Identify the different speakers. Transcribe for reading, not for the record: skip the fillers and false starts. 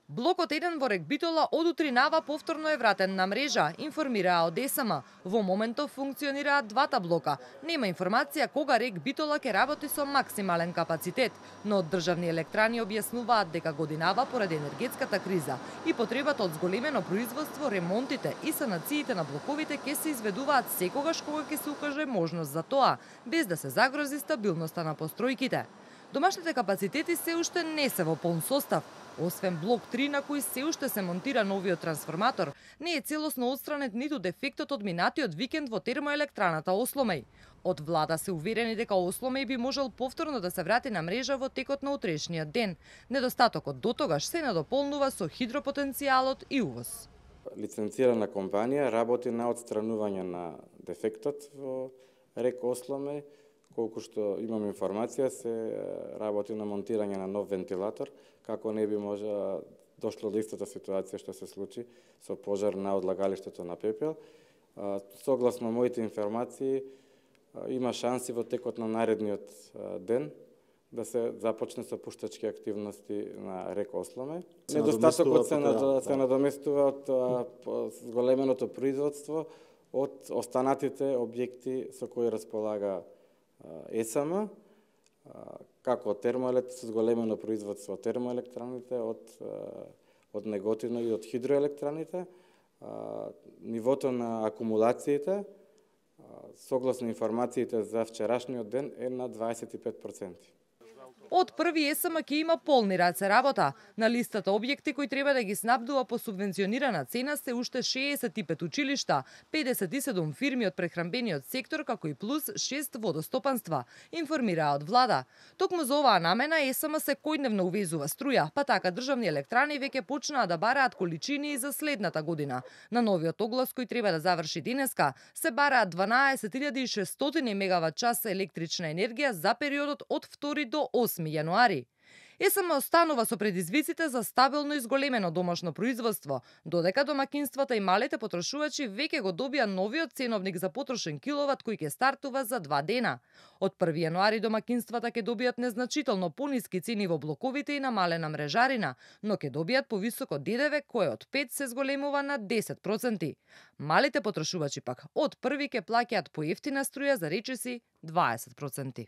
Speaker 1: Блокот 1 во РЕК Битола од утринава повторно е вратен на мрежа, информираа од ЕСМ. Во моментов функционираат двата блока. Нема информација кога РЕК Битола ќе работи со максимален капацитет, но од државни електрани објаснуваат дека годинава поради енергетската криза и потребата од зголемено производство, ремонтите и санациите на блоковите ќе се изведуваат секогаш кога ќе се укаже можност за тоа, без да се загрози стабилноста на постројките. Домашните капацитети се уште не се во полн состав. Освен блок 3 на кој се уште се монтира новиот трансформатор, не е целосно отстранет ниту дефектот од минатиот викенд во термоелектраната Осломеј. Од влада се уверени дека Осломеј би можел повторно да се врати на мрежа во текот на утрешниот ден. Недостатокот дотогаш се надополнува со хидропотенцијалот и увоз.
Speaker 2: Лиценцирана компанија работи на отстранување на дефектот во РЕК Осломеј. Колку што имам информација, се работи на монтирање на нов вентилатор, како не би можа дошло до истата ситуација што се случи со пожар на одлагалиштето на пепел. Согласно моите информации, има шанси во текот на наредниот ден да се започне со пуштачки активности на РЕК Осломеј. Недостатокот се надоместува од зголеменото производство од останатите објекти со кои располага ЕСМ, како со зголемено производство од термоелектраните, од Неготино и од хидроелектраните. Нивото на акумулациите, согласно информациите за вчерашниот ден, е на 25%.
Speaker 1: Од 1 ЕСМ ќе има полни раце работа. На листата објекти кои треба да ги снабдува по субвенционирана цена се уште 65 училишта, 57 фирми од прехранбениот сектор, како и плюс 6 водостопанства, информираа од влада. Токму за оваа намена ЕСМ секојдневно увезува струја, па така државни електрани веќе почнаа да бараат количини и за следната година. На новиот оглас кој треба да заврши денеска, се бараат 12.600 мегават час електрична енергија за периодот од 2 до 8 јануари. ЕСМ останува со предизвиците за стабилно и зголемено домашно производство, додека домакинствата и малите потрошувачи веќе го добија новиот ценовник за потрошен киловат кој ќе стартува за 2 дена. Од 1 јануари домакинствата ќе добијат незначително пониски цени во блоковите и намалена мрежарина, но ќе добијат повисоко ДДВ кој од 5 се зголемува на 10%. Малите потрошувачи пак од 1 ќе плаќаат поевтина струја за речиси 20%.